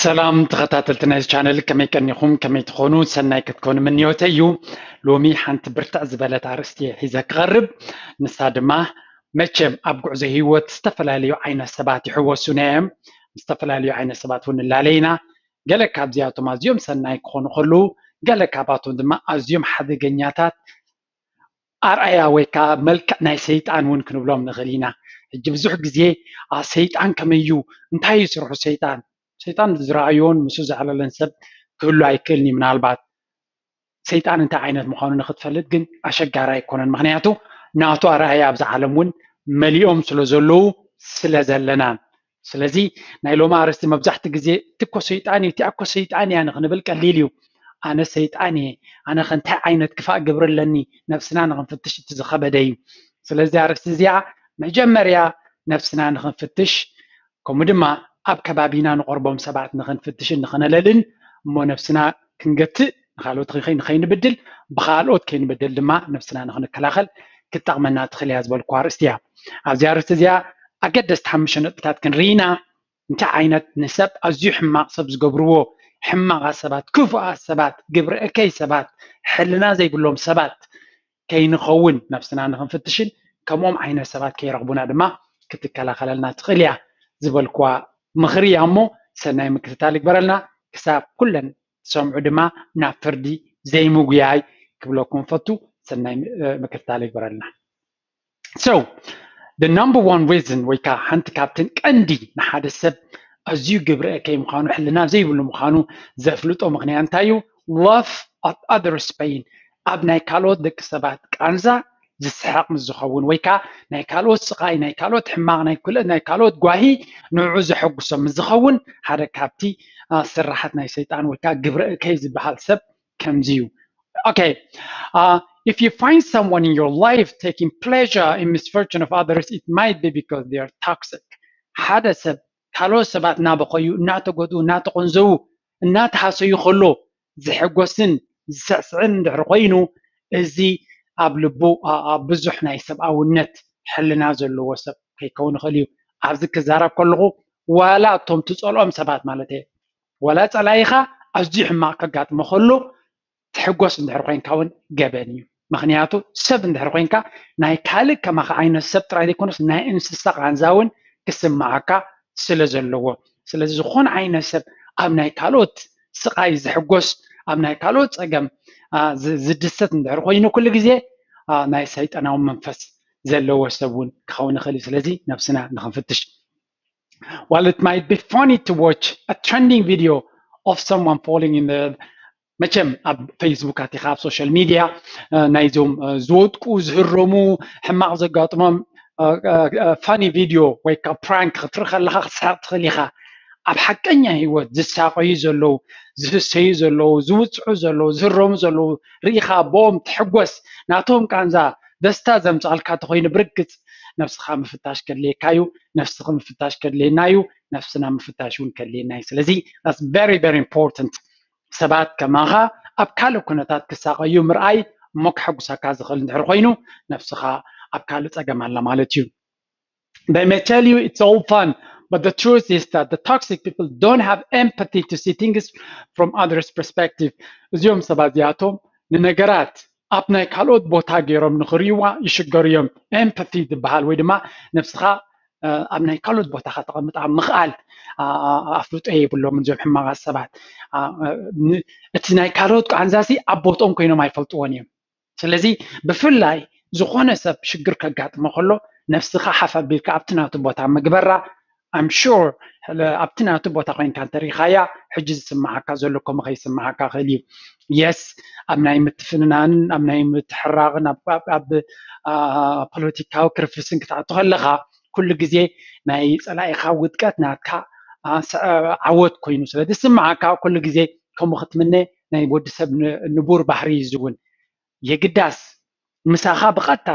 ሰላም ተኸታተልቲ ናይዚ ቻነል፣ ከመይ ቀኒኹም? ከመይ ትኾኑ? ሰናይ ክትኮኑ ምንዮተይ እዩ። ሎሚ ሓንቲ ብርትዕ ዝበለት ኣርእስቲ እየ ሒዘ ክቐርብ። ንሳ ድማ መቸም ኣብ ጉዕዞ ህይወት ዝተፈላለዩ ዓይነት ሰባት ይሕወሱና እዮም። ምስ ዝተፈላለዩ ዓይነት ሰባት እውን ንላለ ኢና። ገለ ካብዚኣቶም ኣዝዮም ሰናይ ክኾኑ ከለዉ፣ ገለ ካባቶም ድማ ኣዝዮም ሓደገኛታት ኣርኣያ ወይ ከዓ መልክዕ ናይ ሰይጣን እውን ክንብሎም ንኽእል ኢና። ሕጂ ብዙሕ ግዜ "ኣ፣ ሰይጣን ከመይ እዩ? እንታይ እዩ ስርሑ ሰይጣን?" ሰይጣን ዝረኣዮን ምስኡ ዘዕለለን ሰብ ክህሉ ኣይክእልን እዩ። ምናልባት ሰይጣን እንታይ ዓይነት ምዃኑ ንኽትፈልጥ ግን ኣሸጋሪ ኣይኮነን። ምኽንያቱ ናቱ ኣርኣያ ኣብዚ ዓለም እውን መሊኦም ስለ ዘለዉ ስለ ዘለናን። ስለዚ ናይ ሎሚ ኣርእስቲ መብዛሕትኡ ግዜ "እቲ እኮ ሰይጣን እዩ፣ እቲኣ እኮ ሰይጣን እያ" ንኽንብል ቀሊል እዩ። "ኣነ ሰይጣን እየ፣ ኣነ ኸ እንታይ ዓይነት ክፋእ ግብሪ ኣለኒ?" ነብስና ንኽንፍትሽ እቲ ዝኸበደ እዩ። ስለዚ ኣርእስቲ እዚኣ መጀመርያ ነብስና ንኽንፍትሽ፣ ከምኡ ድማ ኣብ ከባቢና ንቐርቦም ሰባት ንኽንፍትሽን ንኽነለልን፣ እሞ ነብስና ክንገትእ፣ ንኻልኦት ንኸይ-፣ ንኸይንብድል፣ ብኻልኦት ከይንብድል ድማ ነብስና ንኽንከላኸል ክትጠቕመና ትኽእል እያ ዝበልኩዋ ኣርእስቲ እያ። ኣብዚ ኣርእስቲ እዚኣ ኣገደስቲ ሓሙሽተ ነጥብታት ክንርኢ ኢና። እንታይ ዓይነት ንሰብ ኣዝዩ ሕማቕ ሰብ ዝገብርዎ፣ ሕማቓት ሰባት፣ ክፉኣት ሰባት፣ ግብረ እከይ ሰባት፣ ሕልና ዘይብሎም ሰባት ከይንኸውን ነብስና ንኽንፍትሽን ከምኦም ዓይነት ሰባት ከይረኽቡና ድማ ክትከላኸለልና ትኽእል እያ ዝበልኩዋ ምኽሪ እያ። እሞ ሰናይ ምክትታል ይግበረልና። ክሳብ ኩለን ትሰምዑ ድማ ናብ ፍርዲ ዘይምጉያይ ክብለኩም ፈቱ። ሰናይ ም-፣ ምክትታል ይግበረልና። So, the number one reason ወይ ከዓ ሓንቲ ካብተን ቀንዲ ንሓደ ሰብ ኣዝዩ ግብረ እከይ ምዃኑ፣ ሕልና ዘይብሉ ምዃኑ ዘፍልጦ ምኽንያት እንታይ እዩ? Laugh at others' pain። ኣብ ናይ ካልኦት ደቂ ሰባት ቃንዛ ዝስሕቕ ምስ ዝኸውን ወይ ከዓ ናይ ካልኦት ስቓይ፣ ናይ ካልኦት ሕማቕ፣ ናይ ኩለ-፣ ናይ ካልኦት ጓሂ ንዕኡ ዘሐጉሶ ምስ ዝኸውን ሓደ ካብቲ፣ አ፣ ስራሓት ናይ ሰይጣን ወይ ከዓ ግብረ እከይ ዝበሃል ሰብ ከምዚ እዩ። Okay, uh, if you find someone in your life taking pleasure in misfortune of others, it might be because they are toxic. ሓደ ሰብ ካልኦት ሰባት እናበኸዩ፣ እናተጎድኡ፣ እናተቆንዘዉ፣ እናተሃሰዩ ከሎ ዝሕጎስን ዝስዕስዕን እንድሕር ኮይኑ፣ እዚ ኣብ ልቡ፣ ኣ-፣ ኣብ ብዙሕ ናይ ሰብኣውነት ሕልና ዘለዎ ሰብ ከይከውን ይኽእል እዩ። ኣብዚ ክዛረብ ከለኹ ዋላ እቶም ትጸልኦም ሰባት ማለት እየ፣ ዋላ ጸላኢኻ ኣዝዩ ሕማቕ ከጋጥሞ ከሎ ትሕጎስ እንድሕር ኮይንካ እውን ገበን እዩ። ምኽንያቱ ሰብ እንድሕር ኮይንካ ናይ ካልእ ከማኻ ዓይነት ሰብ ጥራይ ዘይኮነስ ናይ እንስሳ ቃንዛ እውን ክስምዓካ ስለ ዘለዎ። ስለዚ ዝኾነ ዓይነት ሰብ ኣብ ናይ ካልኦት ስቓይ ዝሕጎስ፣ ኣብ ናይ ካልኦት ጸገም፣ ኣ፣ ዝ-፣ ዝድሰት እንድሕር ኮይኑ ኩሉ ግዜ፣ ኣ፣ ናይ ሰይጣናዊ መንፈስ ዘለዎ ሰብ እውን ክኸውን ይኽእል እዩ። ስለዚ ነብስና ንኽንፍትሽ። While it might be funny to watch a trending video of someone falling in the መቸም ኣብ ፌስቡክ ኣቲኻ ኣብ ሶሻል ሚድያ፣ እ፣ ናይዞም፣ እ፣ ዝወድቁ ዝህረሙ ሕማቕ ዘጋጥሞም፣ እ፣ እ፣ እ፣ ፋኒ ቪድዮ ወይ ከዓ ፕራንክ ክትርኢ ከለኻ ክትስሕቕ ትኽእል ኢኻ። ኣብ ሓቀኛ ህይወት ዝሳቐዩ ዘለዉ፣ ዝህሰዩ ዘለዉ፣ ዝውፅዑ ዘለዉ፣ ዝህረሙ ዘለዉ ርኢኻ ብኦም ትሕጎስ፣ ናቶም ቃንዛ ደስታ ዘምፅኣልካ ተኾይኑ ብርግፅ ነብስኻ ምፍታሽ ከድልየካ እዩ። ነብስኺ ምፍታሽ ከድልየና እዩ። ነብስና ምፍታሽ እውን ከድልየና እዩ። ስለዚ that's very, very important። ሰባት ከማኻ ኣብ ካልእ ኩነታት ክሳቐዩ ምርኣይ እሞ ከሐጉሰካ ዝኽእል እንድሕር ኮይኑ ነብስኻ ኣብ ካልእ ጸገም ኣላ ማለት እዩ። They may tell you it's all fun, but the truth is that the toxic people don't have empathy to see things from others' perspective. እዚኦም ሰባት እዚኣቶም ንነገራት ኣብ ናይ ካልኦት ቦታ ገይሮም ንኽርእይዋ ይሽገሩ እዮም። ኤምፓቲ ዝበሃል ወይ ድማ ነብስኻ፣ እ፣ ኣብ ናይ ካልኦት ቦታ ከተቐምጣ ምኽኣል፣ ኣ-፣ ኣ-፣ ኣፍልጦ የብሎምን እዞም ሕማቓት ሰባት። ኣ-፣ እ፣ ን-፣ እቲ ናይ ካልኦት ቃንዛሲ ኣብ ቦትኦም ኮይኖም ኣይፈልጥዎን እዮም። ስለዚ ብፍላይ ዝኾነ ሰብ ሽግር ከጋጥሞ ከሎ ነብስኻ ሓፍ ኣቢልካ ኣብቲ ናቱ ቦታ ምግበራ፣ I'm sure፣ ለ-፣ ኣብቲ ናቱ ቦታ ኮይንካ እንተሪኻያ፣ ሕጂ ዝስምዓካ ዘሎ ከምኡ ከይስምዓካ ይኽእል እዩ። የስ፣ ኣብ ናይ ምትፍንናንን ኣብ ናይ ምትሕራቕን ኣብ፣ ኣብ፣ ኣብ፣ ኣ፣ ፖለቲካዊ ክርፍስን ክትኣቱ ከለኻ፣ ኩሉ ግዜ ናይ ጸላኢኻ ውድቀት ናትካ፣ ኣ፣ ሰ-፣ ዓወት ኮይኑ ስለ ዝስምዓካ፣ ኩሉ ግዜ ከምኡ ክትምነ ናይ ወዲ ሰብ ን-፣ ንቡር ባህሪ እዩ ዝውን። የግዳስ ምሳኻ ብቐጥታ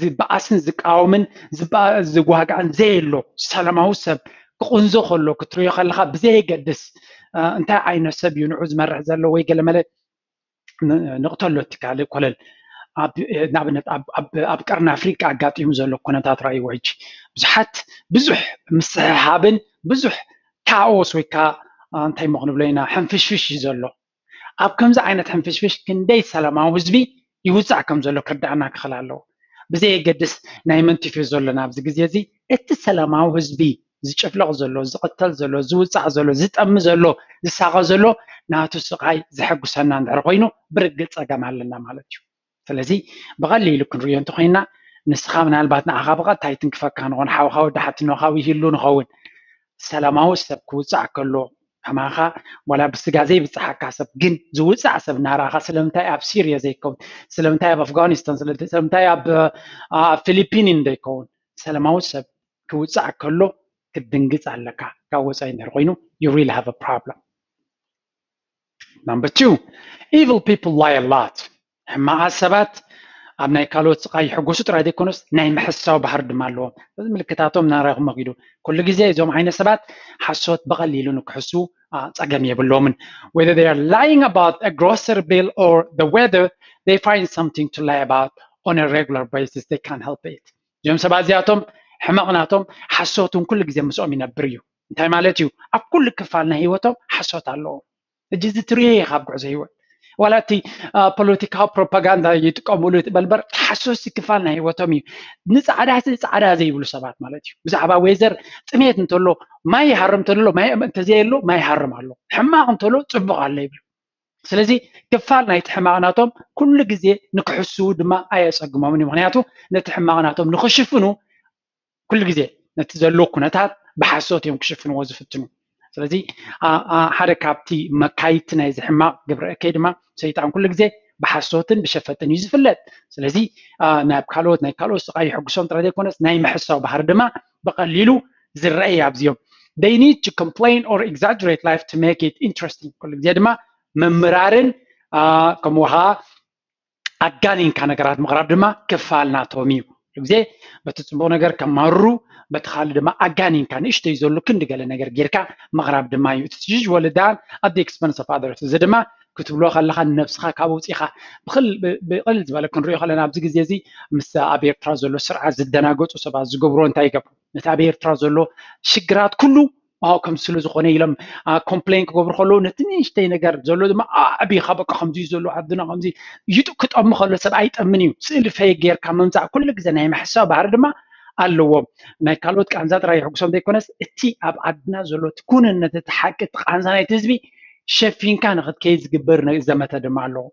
ዝበኣስን ዝቃወምን ዝባ-፣ ዝጓጋእን ዘየሎ ሰላማዊ ሰብ ክቕንዞ ከሎ ክትርእዮ ከለኻ ብዘየገድስ፣ እ፣ እንታይ ዓይነት ሰብ እዩ ንዑ ዝመርሕ ዘሎ ወይ ገለመለ ን-፣ ንቕተሎ እቲ ካልእ ኮለል። ኣብ፣ ንኣብነት ኣብ፣ ኣብ፣ ኣብ ቀርኒ ኣፍሪቃ ኣጋጢሙ ዘሎ ኩነታት ረኣይዎ። ሕጂ ብዙሓት ብዙሕ ምስሕሓብን ብዙሕ ካኦስ ወይ ከዓ እንታይ ሞ ክንብሎ ኢና፣ ሕንፍሽፍሽ እዩ ዘሎ። ኣብ ከምዚ ዓይነት ሕንፍሽፍሽ ክንደይ ሰላማዊ ህዝቢ ይውፃዕ ከም ዘሎ ክርዳእና ክኽእል ኣለዎ። ብዘየገድስ ናይ መን ቲፎዞ ኣለና ኣብዚ ግዜ እዚ፣ እቲ ሰላማዊ ህዝቢ ዝጭፍለቕ ዘሎ፣ ዝቕተል ዘሎ፣ ዝውፃዕ ዘሎ፣ ዝጠሚ ዘሎ፣ ዝሳቐ ዘሎ፣ ናቱ ስቓይ ዘሐጉሰና እንድሕር ኮይኑ ብርግፅ ፀገም ኣለና ማለት እዩ። ስለዚ ብቐሊሉ ክንሪኦ እንተኮይና፣ ንስኻ ምናልባት ንዓኻ ብቐጥታ ኣይትንክፈካ ንኾን፣ ሓውኻ ወዲ ሓትኖኻ ይህሉ ንኸውን። ሰላማዊ ሰብ ክውፃዕ ከሎ ከማኻ ዋላ ብስጋ ዘይብፅሓካ ሰብ ግን ዝውፃዕ ሰብ እናረኣኻ ስለምንታይ ኣብ ሲርያ ዘይከውን፣ ስለምንታይ ኣብ ኣፍጋኒስታን፣ ስለምንታይ ኣብ ፊሊፒኒን ዘይከውን፣ ሰላማዊ ሰብ ክውፃዕ ከሎ ክትድንግፅ ኣለካ። ካብ ወፃኢ እንድሕር ኮይኑ you really have a problem። Number two, evil people lie a lot. ሕማቓት ሰባት ኣብ ናይ ካልኦት ስቓይ ይሕጎሱ ጥራይ ዘይኮኑስ ናይ ምሕሳው ባህሪ ድማ ኣለዎም። እዚ ምልክታቶም እናረኣኹም መኺዱ። ኩሉ ግዜ እዞም ዓይነት ሰባት ሓሶት ብቐሊሉ ንክሕሱ ጸገም የብሎምን። Whether they are lying about a grocery bill or the weather, they find something to lie about on a regular basis. They can't help it. እዞም ሰባት እዚኣቶም ሕመቕ ናቶም ሓሶት እውን ኩሉ ግዜ ምስኦም ይነብር እዩ። እንታይ ማለት እዩ? ኣብ ኩሉ ክፋል ናይ ህይወቶም ሓሶት ኣለዎም። ሕጂ እዚ ትርእዮ ኢኻ ኣብ ጉዕዞ ህይወት። ዋላ እቲ ፖለቲካዊ ፕሮፓጋንዳ ይጥቀምሉ በልበር፣ ሓሶሲ ክፋል ናይ ህይወቶም እዩ። ንፃዕዳ ፃዕዳ ዘይብሉ ሰባት ማለት እዩ። ብዛዕባ ዌዘር፣ ጥሜት እንተሎ ማይ ይሃርም እንተሎ፣ ማይ እንተዘየሎ ማይ ይሃርም ኣሎ፣ ሕማቕ እንተሎ ፅቡቕ ኣሎ ይብሉ። ስለዚ ክፋል ናይቲ ሕማቕ ናቶም ኩሉ ግዜ ንክሕስዉ ድማ ኣየፀግሞምን እዩ። ምክንያቱ ነቲ ሕማቕ ናቶም ንክሽፍኑ ኩሉ ግዜ ነቲ ዘሎ ኩነታት ብሓሶት እዮም ክሽፍንዎ ዝፍትኑ። ስለዚ ሓደ ካብቲ መካይድቲ ናይዚ ሕማቕ ግብረ እከይ ድማ ሰይጣን ኩሉ ግዜ ብሓሶትን ብሸፈጥን እዩ ዝፍለጥ። ስለዚ ናብ ካልኦት ናይ ካልኦት ስቓይ ይሕጉሶም ጥራይ ዘይኮነስ ናይ ምሕሳው ባህሪ ድማ ብቐሊሉ ዝረኣይ ኣብዚኦም። They need to complain or exaggerate life to make it interesting. ኩሉ ግዜ ድማ ምምራርን ከምኡ ከዓ ኣጋኒንካ ነገራት ምቕራብ ድማ ክፋል ናቶም እዩ። ኩሉ ግዜ በቲ ፅቡቕ ነገር ከማርሩ፣ በቲ ካልእ ድማ ኣጋኒንካ ንእሽተይ ዘሎ ክንዲ ገለ ነገር ጌርካ ምቕራብ ድማ እዩ። It's usually done at the expense of others። እዚ ድማ ክትብሎ ከለኻ ንነብስኻ ካብ ውፂኻ ብቕልል ዝበለ ክንሪኦ ከለና ኣብዚ ግዜ እዚ ምስ ኣብ ኤርትራ ዘሎ ስርዓት ዝደናገፁ ሰባት ዝገብሮ እንታይ ይገብሩ? ነቲ ኣብ ኤርትራ ዘሎ ሽግራት ኩሉ ከምስሉ ዝኾነ ኢሎም ኮምፕሌን ክገብሩ ከለዉ ነቲ ንእሽተይ ነገር ዘሎ ድማ ኣዕቢኻ በቃ ከምዚ ዘሎ ዓድና ከምዚ ይጡ ክጠሚ ከሎ ሰብ ኣይጠምን እዩ። ስእሊ ፈይ ጌርካ ምምፃእ ኩሉ ግዜ ናይ ምሕሳው ባህሪ ድማ ኣለዎም። ናይ ካልኦት ቃንዛ ጥራይ ይሕጉሶም ዘይኮነስ እቲ ኣብ ዓድና ዘሎ እቲ ኩንነት እቲ ሓቂ እቲ ቃንዛ ናይቲ ህዝቢ ሸፊንካ ንክትከይድ ዝግበር ዘመተ ድማ ኣለዎ።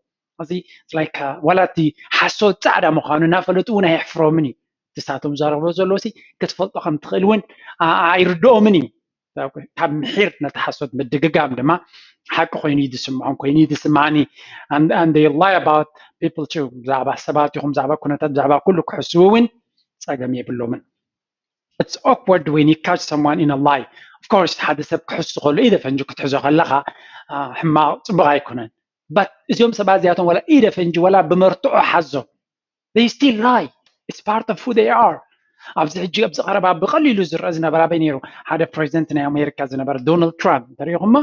እዚ like ዋላ እቲ ሓሶት ፃዕዳ ምዃኑ እናፈለጡ እውን ኣየሕፍሮምን እዩ። ንሳቶም ዝዛረብዎ ዘለዉ ሲ ክትፈልጦ ከም ትኽእል እውን ኣይርድኦምን እዩ። ካብ ምሒር ነቲ ሓሶት ምድግጋም ድማ ሓቂ ኮይኑ እዩ ዝስምዖም ኮይኑ እዩ ዝስምዓኒ። And they lie about people too። ብዛዕባ ሰባት ይኹን ብዛዕባ ኩነታት ብዛዕባ ኩሉ ክሕስቡ እውን ፀገም የብሎምን። It's awkward when you catch someone in a lie. Of course ሓደ ሰብ ክሕሱ ከሎ ኢደ ፈንጂ ክትሕዞ ከለኻ ሕማቕ ፅቡቕ ኣይኮነን። But እዚኦም ሰባት እዚኣቶም ዋላ ኢደ ፈንጂ ዋላ ብመርትዖ ሓዞም they still lie. It's part of who they are. ኣብዚ ሕጂ ኣብዚ ቀረባ ብቐሊሉ ዝረአ ዝነበረ ኣበይ ነይሩ? ሓደ ፕሬዚደንት ናይ ኣሜሪካ ዝነበረ ዶናልድ ትራምፕ እንተሪኢኹሞ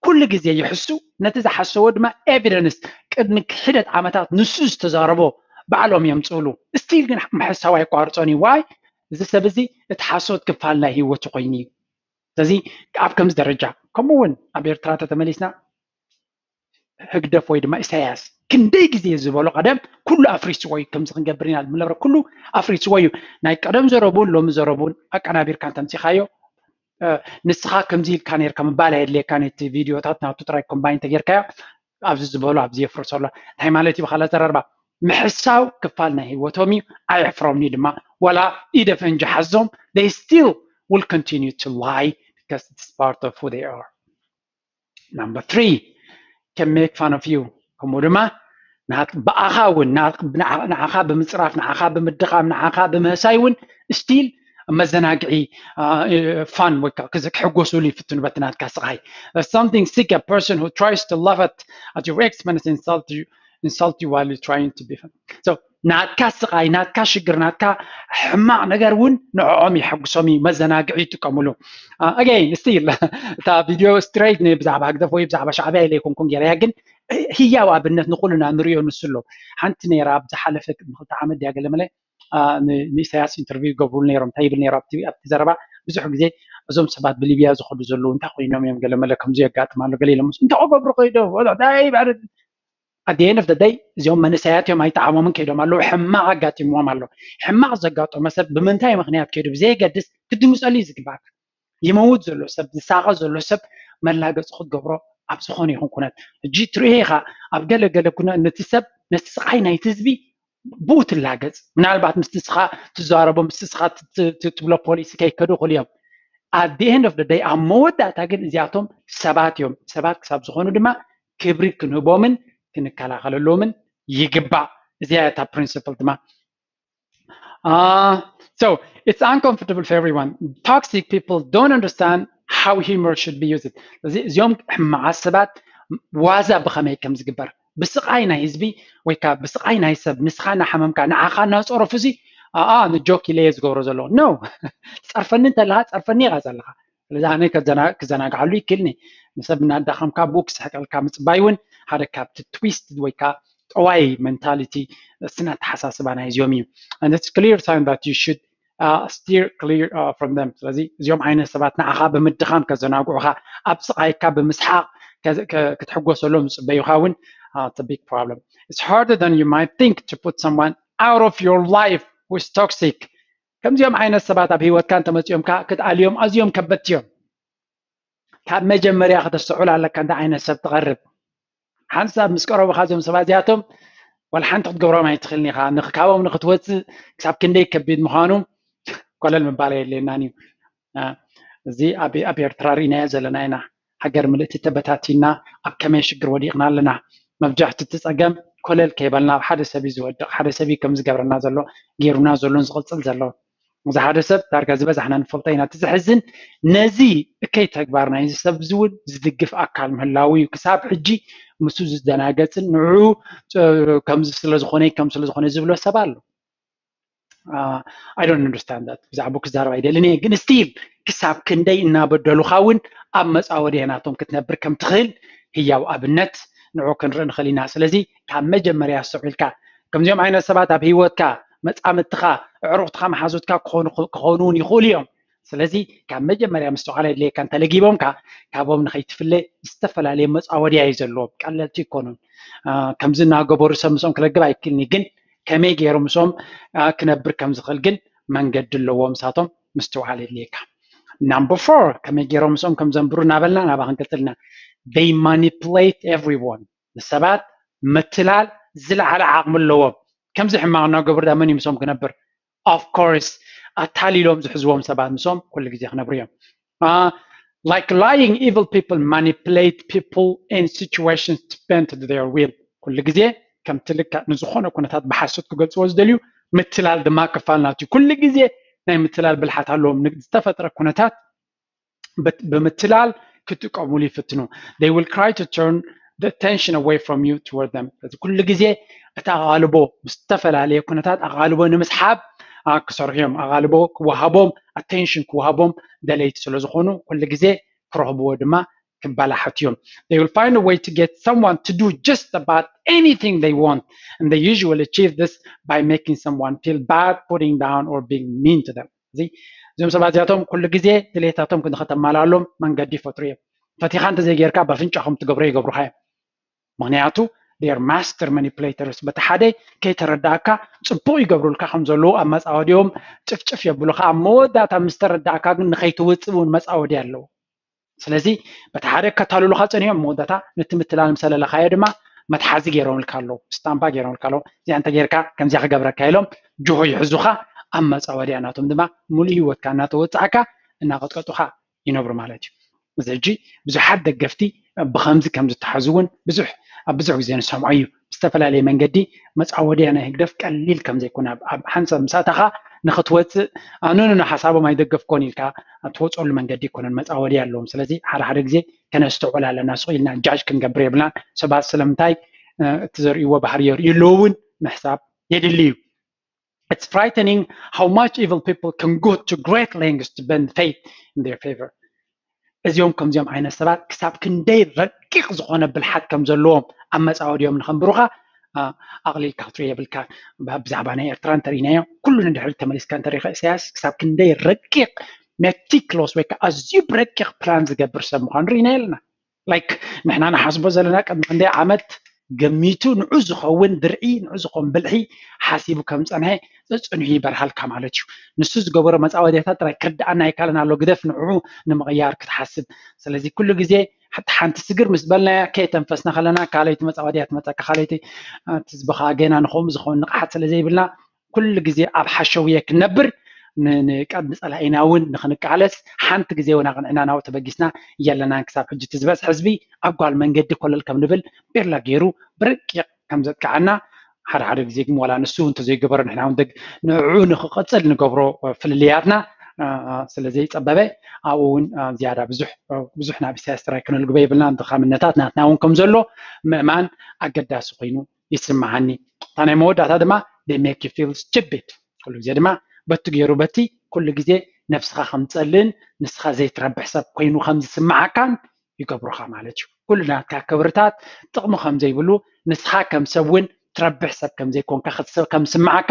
ኩሉ ግዜ ይሕሱ። ነቲ ዝሓሰቦ ድማ ኤቪደንስ ቅድሚ ሒደት ዓመታት ንሱ ዝተዛረቦ ባዕሎም የምፅእሉ። ስቲል ግን ምሕሳው ኣይቋርፆን እዩ። ዋይ? እዚ ሰብ እዚ እቲ ሓሶት ክፋል ናይ ህይወቱ ኮይኑ እዩ። ስለዚ ኣብ ከምዚ ደረጃ ከምኡ እውን ኣብ ኤርትራ ተተመሊስና ህግደፍ ወይ ድማ ኢሳያስ ክንደይ ግዜ ዝበሎ ቀደም ኩሉ ኣፍሪስዎ እዩ። ከምዚ ክንገብር ኢና ንብሎ ኩሉ ኣፍሪስዎ እዩ። ናይ ቀደም ዘረቡን ሎሚ ዘረቡን ኣቀናቢርካ እንተምፂኻዮ ንስኻ ከምዚ ኢልካ ነርካ ምባል ኣየድልየካ ነቲ ቪድዮታት ናቱ ጥራይ ኮምባይን ተጌርካዮ ኣብዚ ዝበሎ ኣብዚ የፍርሶ ኣሎ እንታይ ማለት እዩ ብካላ ዘረርባ ምሕሳው ክፋል ናይ ህይወቶም እዩ። ኣየሕፍሮምኒ ድማ ዋላ ኢደ ፈንጂ ሓዞም they still will continue to lie because it's part of who they are. Number three, can make fun of you. ከምኡ ድማ ብኣኻ እውን ንዓኻ ብምፅራፍ ንዓኻ ብምድኻም ንዓኻ ብምህሳይ እውን ስቲል መዘናግዒ ፋን ወይ ክሕጎሱሉ ይፍትኑ በቲ ናትካ ስቓይ። Something sick, a person who tries to laugh at, at your expense insult you, insult you while you're trying to be fun. So ናትካ ስቓይ ናትካ ሽግር ናትካ ሕማቕ ነገር እውን ንዕኦም የሐጉሶም እዩ መዘናግዒ ይጥቀሙሉ። Again still እታ ቪድዮ ስትሬት ብዛዕባ ህግደፍ ወይ ብዛዕባ ሻዕብያ ኢለ ኣይኮንኩን ገይረያ ግን ህያው ኣብነት ንኩልና ንሪኦ ንስሎ ሓንቲ ነይራ ኣብ ዝሓለፈ ቅድሚ ክልተ ዓመት ድያ ገለመለ ንኢሳያስ ኢንተርቪው ይገብሩሉ ነይሮም እንታይ ይብል ነይሩ ኣብቲ ዘረባ ብዙሕ ግዜ እዞም ሰባት ብሊብያ ዝኸዱ ዘለዉ እንታይ ኮይኖም እዮም፣ ገለ መለ ከምዚ የጋጥም ኣሎ፣ ገለ ኢሎም እንታይ ክገብሩ ከይዶም፣ እንታይ ባዕሪ at the end of the day እዚኦም መንእሰያት እዮም፣ ኣይጠዓሞምን ከይዶም ኣለዉ፣ ሕማቕ ኣጋጢምዎም ኣሎ። ሕማቕ ዘጋጠመ ሰብ ብምንታይ ምክንያት ከይዱ ብዘየገድስ ክትድምፀሉ እዩ ዝግባእ። ይመውት ዘሎ ሰብ፣ ዝሳቐ ዘሎ ሰብ መላገፂ ክትገብሮ ኣብ ዝኾነ ይኹን ኩነት። ሕጂ ትሪኦ ኢኻ ኣብ ገለ ገለ ኩነ ነቲ ሰብ ነቲ ስቓይ ናይቲ ህዝቢ ብኡ ትላገፅ። ምናልባት ምስቲ ስኻ ትዛረቦ ምስቲ ስኻ ትብሎ ፖሊሲ ከይከዱ ይኽእሉ እዮም። At the end of the day ኣብ መወዳእታ ግን እዚኣቶም ሰባት እዮም። ሰባት ክሳብ ዝኾኑ ድማ ክብሪ ክንህቦምን ክንከላኸለሎምን ይግባእ። እዚኣ እታ principle ድማ Uh, so it's uncomfortable for everyone. Toxic people don't understand how humor should be used. እዚኦም ሕማቓት ሰባት ዋዛ ብኸመይ ከም ዝግበር ብስቓይ ናይ ህዝቢ ወይ ከዓ ብስቓይ ናይ ሰብ ንስኻ እናሓመምካ ንዓኻ እናፀረፉ ሲ ኣኣ ንጆክ ኢለ እየ ዝገብሮ ዘለኹ no ጸርፈኒ እንተለኻ ጸርፈኒ ኢኻ ዘለኻ ስለዚ ኣነ ክዘናግዓሉ ይክልኒ ንሰብ እናዳኸምካ ብኡ ክስሕቀልካ ምፅባይ እውን ሓደ ካብቲ twist ወይ ከዓ ጠዋይ mentality ስነ ኣተሓሳስባ ናይዚኦም እዩ and it's clear sign that you should uh, steer clear uh, from them ስለዚ እዚኦም ዓይነት ሰባት ንዓኻ ብምድኻም ከዘናግዑኻ ኣብ ስቓይካ ብምስሓቕ ክትሕጎሰሎም ዝፅበዩኻ እውን it's a big problem it's harder than you might think to put someone out of your life who's toxic ከምዚኦም ዓይነት ሰባት ኣብ ህይወትካ እንተመፂኦምካ ክትኣልዮም ኣዝዮም ከበድቲ እዮም ካብ መጀመርያ ከተስተውዕል ኣለካ እንታይ ዓይነት ሰብ ትቐርብ ሓንሳብ ምስ ቀረቡኻ እዞም ሰባት እዚኣቶም ዋላ ሓንቲ ክትገብሮም ኣይትኽእልን ኢኻ ንክካቦም ንክትወፅእ ክሳብ ክንደይ ከቢድ ምዃኑ ኮለል ምባል የድልየናን እዩ እዚ ኣብ ኤርትራ ርኢናዮ ዘለና ኢና ሃገር ምልእቲ ተበታቲና ኣብ ከመይ ሽግር ወዲቕና ኣለና መብዛሕቲ እቲ ፀገም ኮለል ከይበልና ኣብ ሓደ ሰብ እዩ ዝወድቕ ሓደ ሰብ እዩ ከም ዝገብረና ዘሎ ገይሩና ዘሎን ዝቕፅል ዘሎ እዚ ሓደ ሰብ ዳርጋ ዝበዛሕና ንፈልጦ ኢና እቲ ዘሕዝን ነዚ እከይ ተግባር ናይዚ ሰብ እዚ እውን ዝድግፍ ኣካል ምህላው እዩ ክሳብ ሕጂ ምስኡ ዝደናገፅን ንዑ ከምዚ ስለዝኾነ ከም ስለዝኾነ ዝብሎ ሰብ ኣሎ I don't understand that ብዛዕባ ክዛረብ ኣይደልን እየ ግን still ክሳብ ክንደይ እናበደሉኻ እውን ኣብ መፃወድያ ናቶም ክትነብር ከም ትኽእል ህያው ኣብነት ንዑ ክንርኢ ንኽእል ኢና ስለዚ ካብ መጀመርያ ኣስተውዒልካ ከምዚኦም ዓይነት ሰባት ኣብ ህይወትካ መፃምድትኻ ኣዕሩኽትኻ መሓዙትካ ክኾኑ እውን ይኽእሉ እዮም ስለዚ ካብ መጀመርያ ምስትውዓል የድልየካ እንተለጊቦምካ ካብኦም ንኸይትፍለ ዝተፈላለየ መፃወድያ እዩ ዘለዎም ቀለልቲ ይኮኑን ከምዚ እናገበሩ ሰብ ምስኦም ክለግብ ኣይክልኒ ግን ከመይ ገይሮም ምስኦም ክነብር ከም ዝኽእል ግን መንገዲ ኣለዎም ንሳቶም ምስትውዓል የድልየካ number four ከመይ ገይሮም ምስኦም ከም ዘንብሩ እናበልና ናባ ክንቅፅልና they manipulate everyone ንሰባት ምትላል ዝለዓለ ዓቕሚ ኣለዎም ከምዚ ሕማቕ እናገበሩ ዳ መን እዩ ምስኦም ክነብር of course ኣታሊሎም ዝሕዝዎም ሰባት ምስኦም ኩሉ ግዜ ክነብሩ እዮም uh, like lying evil people manipulate people in situations to bend their will ኩሉ ግዜ ከምቲ ልክዕ ንዝኾነ ኩነታት ብሓሶት ክገልፅዎ ዝደልዩ ምትላል ድማ ክፋል ናት እዩ ኩሉ ግዜ ናይ ምትላል ብልሓት ኣለዎም ዝተፈጥረ ኩነታት ብምትላል ክጥቀሙሉ ይፍትኑ they will try to turn the attention away from you toward them እዚ ኩሉ ግዜ እቲ ኣቓልቦ ብዝተፈላለየ ኩነታት ኣቓልቦ ንምስሓብ ክሰርሑ እዮም ኣቓልቦ ክወሃቦም attention ክወሃቦም ደለይቲ ስለ ዝኾኑ ኩሉ ግዜ ክረኽብዎ ድማ ክበላሓት እዮም they will find a way to get someone to do just about anything they want and they usually achieve this by making someone feel bad putting down or being mean to them እዚ እዞም ሰባት እዚኣቶም ኩሉ ግዜ ድሌታቶም ንኸተማላሎም መንገዲ ይፈጥሩ እዮም ፈቲኻ እንተዘይጌርካ በፍንጫ ከም ትገብሮ ይገብሩኻ እዮም ምክንያቱ ር master manipulators በቲ ሓደ ከይተረዳእካ ፅቡቅ ይገብሩልካ ከም ዘለዉ ኣብ መፃወዲኦም ጭፍጭፍ የብሉካ ኣብ መወዳእታ ምስ ተረዳእካ ግን ንኸይትውፅእ እውን መፃወዲ ኣለዉ ስለዚ በቲ ሓደ ከታልሉካ ፀኒሖም መወዳእታ ነቲ ምትላል ምሰለለካዮ ድማ መትሓዚ ገይሮምልካ ኣለዉ ስታምፓ ገይሮምልካ ኣለዉ እዚኣ እንተ ገይርካ ከምዚኣ ክገብረካ ኢሎም ጅሆ ይሕዙካ ኣብ መፃወድያ ናቶም ድማ ሙሉእ ህይወትካ እናተወፃእካ እናቀጥቀጡካ ይነብሩ ማለት እዩ እዚ ሕጂ ብዙሓት ደገፍቲ ብከምዚ ከም ዝተሓዙ እውን ብዙሕ ኣብ ብዙሕ ግዜ ንሰምዖ እዩ ብዝተፈላለየ መንገዲ መፃወድያ ናይ ህግደፍ ቀሊል ከም ዘይኮነ ኣብ ሓንሳብ ምስ ኣተኻ ንክትወፅእ ኣነኑ ንሓሳቦም ኣይደገፍኮን ኢልካ ትወፀሉ መንገዲ ይኮነን መፃወድያ ኣለዎም ስለዚ ሓደ ሓደ ግዜ ከነስተውዕል ኣለና ስቕ ኢልና ጃጅ ክንገብር የብልናን ሰባት ስለምንታይ እቲ ዘርእይዎ ባህሪ የርእዩ ኣለዉ እውን ምሕሳብ የድሊ እዩ It's frightening how much evil people can go to great lengths to bend fate in their favor. እዚኦም ከምዚኦም ዓይነት ሰባት ክሳብ ክንደይ ረቂቕ ዝኾነ ብልሓት ከም ዘለዎም ኣብ መፃወዲኦም ንኸንብሩኻ ኣቕሊልካ ክትሪኦ የብልካ ብዛዕባ ናይ ኤርትራ እንተሪኢናዮ ኩሉ ንድሕሪት ተመሊስካ እንተሪኢኻ ኢሳያስ ክሳብ ክንደይ ረቂቕ meticulous ወይ ከዓ ኣዝዩ ብረቂቕ ፕላን ዝገብር ሰብ ምዃኑ ርኢና የለና። ላይክ ንሕና ንሓስቦ ዘለና ቅድሚ ክንደይ ዓመት ገሚቱ ንዑ ዝኸውን ድርዒ ንዑ ዝኸውን ብልሒ ሓሲቡ ከም ፀንሐ ፀፅንሑ ይበርሃልካ ማለት እዩ። ንሱ ዝገበሮ መፃወድያታት ጥራይ ክርድኣና ኣይካለን ኣሎ ግደፍ ንዑ ንምቕያር ክትሓስብ። ስለዚ ኩሉ ግዜ ሓንቲ ሓንቲ ስግር ምስ በልናያ ከየተንፈስና ከለና ካልኣይቲ መፃወድያ ትመፀካ። ካልኣይቲ ትዝብኻ ገና ንኸምኡ ዝኸውን ንቕሓት ስለ ዘይብልና ኩሉ ግዜ ኣብ ሓሸውየ ክንነብር ንቀድሚ ፀላኢና እውን ንክንቃለስ ሓንቲ ግዜ እውን ኣቕንዕና ናብኡ ተበጊስና የለናን። ክሳብ ሕጂ እቲ ዝበዝሐ ህዝቢ ኣብ ጓል መንገዲ ኮለል ከም ንብል ቤላ ገይሩ ብረቂቕ ከም ዘጥቅዓና ሓደ ሓደ ግዜ ግን ዋላ ንሱ እውን እንተዘይገበሮ ንሕና እውን ንዕኡ ንክቐፅል ንገብሮ ፍልልያትና ስለ ዘይፀበበ ኣብኡ እውን ዝያዳ ብዙሕ ብዙሕ ናብ ኢሳያስ ጥራይ ክነልግቦ የብልና። ድኻምነታት ናትና እውን ከም ዘሎ ምእማን ኣገዳሲ ኮይኑ ይስምዓኒ። እታ ናይ መወዳእታ ድማ they make you feel stupid። ኩሉ ግዜ ድማ በቲ ገይሩ በቲ ኩሉ ግዜ ነብስኻ ከም ትጸልእን ንስኻ ዘይትረብሕ ሰብ ኮይኑ ከም ዝስምዓካን ይገብሩኻ ማለት እዩ። ኩሉ ናትካ ክብርታት ጥቕሚ ከም ዘይብሉ ንስኻ ከም ሰብ እውን ትረብሕ ሰብ ከም ዘይኮንካ ከም ዝስምዓካ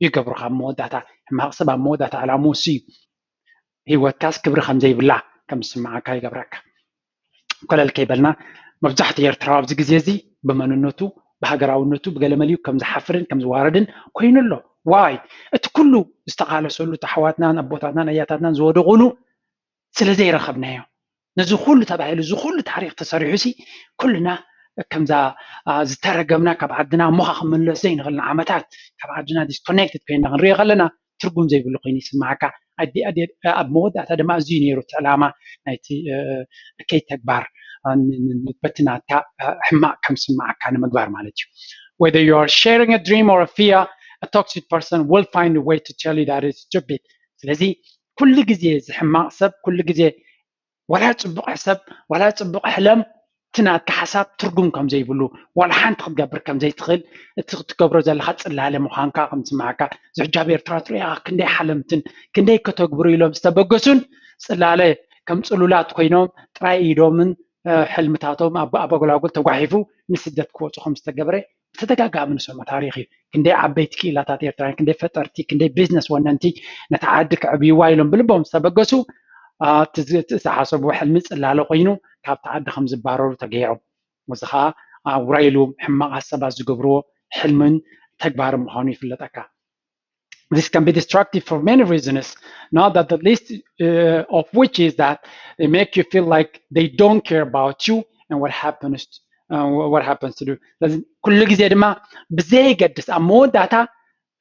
ይገብሩኻ። ኣብ መወዳእታ ሕማቕ ሰብ ኣብ መወዳእታ ዕላምኡ እሱ እዩ። ህይወትካስ ክብሪ ከም ዘይብላ ከም ዝስምዓካ ይገብረካ። ኮለል ከይበልና መብዛሕትኡ ኤርትራዊ ኣብዚ ግዜ እዚ ብመንነቱ ብሃገራውነቱ ብገለመሊኡ ከም ዝሓፍርን ከም ዝዋረድን ኮይኑ ኣሎ። ዋይ እቲ ኩሉ ዝተቓለሰሉ እቲ ኣሕዋትናን ኣቦታትናን ኣያታትናን ዝወደቑሉ ስለ ዘይረኸብናዮ ነዚ ኩሉ ተባሂሉ እዚ ኩሉ ታሪክ ተሰሪሑ ሲ ኩልና ከምዛ ዝተረገምና ካብ ዓድና እሞኻ ክምለስ ዘይንኽእል ንዓመታት ካብ ዓድና disconnected ኮይና ክንሪኦ ከለና ትርጉም ዘይብሉ ኮይኑ ይስምዓካ። ኣብ መወዳእታ ድማ እዚ ነይሩ እቲ ዕላማ ናይቲ እከይ ተግባር በቲ ናትካ ሕማቕ ከም ዝስምዓካ ንምግባር ማለት እዩ። Whether you are sharing a dream or a fear, a toxic person will find a way to tell you that it's stupid. ስለዚ ኩሉ ግዜ እዚ ሕማቕ ሰብ ኩሉ ግዜ ዋላ ፅቡቕ ሕሰብ ዋላ ፅቡቕ ሕለም እቲ ናትካ ሓሳብ ትርጉም ከም ዘይብሉ ዋላ ሓንቲ ክትገብር ከም ዘይትኽእል እቲ ክትገብሮ ዘለካ ፅላለ ምዃንካ ከም ዝስምዓካ። እዚ ሕጂ ኣብ ኤርትራ ትሪኦ ኢኻ ክንደይ ሓለምትን ክንደይ ከተግብሩ ኢሎም ዝተበገሱን ፅላለ ከም ፅሉላት ኮይኖም ጥራይ ኢዶምን ሕልምታቶም ኣብ ኣበጎላጉል ተጓሒፉ ንስደት ክወፁ ከም ዝተገብረ ብተደጋጋሚ ንሰምዖ ታሪክ እዩ። ክንደይ ዓበይቲ ክኢላታት ኤርትራውያን ክንደይ ፈጠርቲ ክንደይ ቢዝነስ ወነንቲ ነታ ዓዲ ከዕብይዋ ኢሎም ብልቦም ዝተበገሱ እቲ ዝተሓሰብዎ ሕልሚ ፅላለ ኮይኑ ካብቲ ዓዲ ከም ዝባረሩ ተገይሮም። እዚ ከዓ ውራይ ኢሉ ሕማቓት ሰባት ዝገብርዎ ሕልምን ተግባርን ምዃኑ ይፍለጠካ። This can be destructive for many reasons, not that the least uh, of which is that they make you feel like they don't care about you and what happens uh, what happens to you. ስለዚ ኩሉ ግዜ ድማ ብዘየገድስ ኣብ መወዳእታ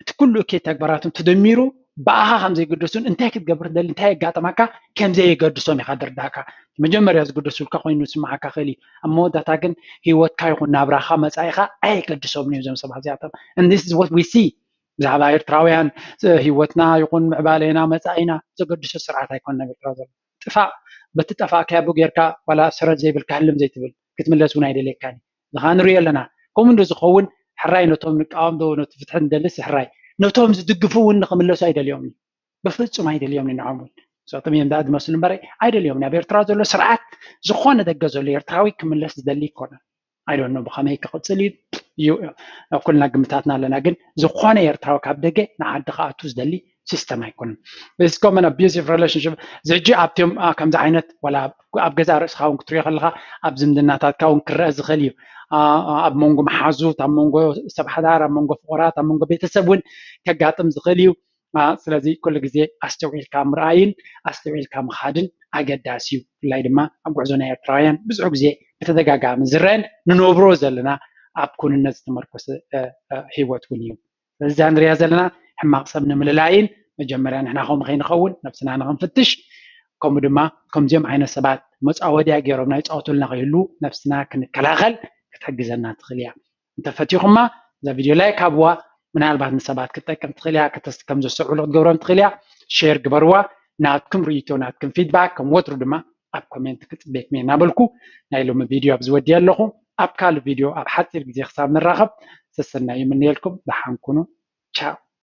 እቲ ኩሉ እከይ ተግባራቶም ተደሚሩ ብኣኻ ከም ዘይገደሱን እንታይ ክትገብር ትደሊ እንታይ የጋጥመካ ከም ዘየገድሶም ኢኻ ድርዳእካ። መጀመርያ ዝገደሱልካ ኮይኑ ዝስምዓካ ክእል እዩ። ኣብ መወዳእታ ግን ህይወትካ ይኹን ናብራኻ መጻኢኻ ኣየገድሶምን እዮም እዞም ሰባት እዚኣቶም። And this is what we see ብዛዕባ ኤርትራውያን ህይወትና ይኹን ምዕባሌና መጻኢና ዘገድሶ ስርዓት ኣይኮነን ኣብ ኤርትራ ዘሎ። ጥፋእ በቲ ጠፋእካያ ቡ ጌርካ ዋላ ሰረት ዘይብልካ ህልም ዘይትብል ክትምለስ እውን ኣይደልየካን እዩ። እዚ ከዓ ንሪኦ ኣለና። ከምኡ እንዶ ዝኸውን ሕራይ ነቶም ንቃወም ዶ ነቲ ፍትሒ ንደልስ ሕራይ ነቶም ዝድግፉ እውን ንክምለሱ ኣይደልዮም እዩ። ብፍጹም ኣይደልዮም ንዕኦም እውን ንሳቶም እዮም ደኣ ዝመስሉ እምበር ኣይደልዮም ኣብ ኤርትራ ዘሎ ስርዓት ዝኾነ ደገ ዘሎ ኤርትራዊ ክምለስ ዝደሊ ይኮነ ኣይዶኖ ብኸመይ ክቕፅል እዩ ኩልና ግምታትና ኣለና ግን ዝኾነ ኤርትራዊ ካብ ደገ ንዓዲ ክኣቱ ዝደሊ ሲስተም ኣይኮነን። It's common abusive relationship እዚ ሕጂ ኣብቲኦም ከምዚ ዓይነት ዋላ ኣብ ገዛ ርእስኻ እውን ክትሪኦ ከለካ ኣብ ዝምድናታትካ እውን ክረአ ዝኽእል እዩ። ኣብ መንጎ መሓዙት ኣብ መንጎ ሰብ ሓዳር ኣብ መንጎ ፍቑራት ኣብ መንጎ ቤተሰብ እውን ከጋጥም ዝኽእል እዩ። ስለዚ ኩሉ ግዜ ኣስተውዒልካ ምርኣይን ኣስተውዒልካ ምኻድን ኣገዳሲ እዩ። ብፍላይ ድማ ኣብ ጉዕዞ ናይ ኤርትራውያን ብዙሕ ግዜ ብተደጋጋሚ ዝረአን ንነብሮ ዘለና ኣብ ኩንነት ዝተመርኮሰ ህይወት እውን እዩ። ስለዚ እዛ ንሪኣ ዘለና ሕማቕ ሰብ ንምልላይን መጀመርያ ንሕና ከምኡ ከይንኸውን ነብስና ንኽንፍትሽ ከምኡ ድማ ከምዚኦም ዓይነት ሰባት መፃወድያ ገይሮም ናይ ፃወቱልና ከይህሉ ነብስና ክንከላኸል ክትሕግዘና ትኽእል እያ። እንተፈቲኹማ እዛ ቪድዮ ላይክ ሃብዋ። ምናልባት ንሰባት ክትጠቅም ትኽእል እያ። ከም ዘስተውዕሉ ክትገብሮም ትኽእል እያ። ሼር ግበርዋ። ናትኩም ርእይቶ ናትኩም ፊድባክ ከም ወትሩ ድማ ኣብ ኮሜንት ክፅበየኩም እየ እናበልኩ ናይ ሎሚ ቪድዮ ኣብዚ ወዲየ ኣለኹ። ኣብ ካልእ ቪድዮ ኣብ ሓፂር ግዜ ክሳብ ንራኸብ ሰሰናዩ ይምነየልኩም። ደሓን ኩኑ። ቻው።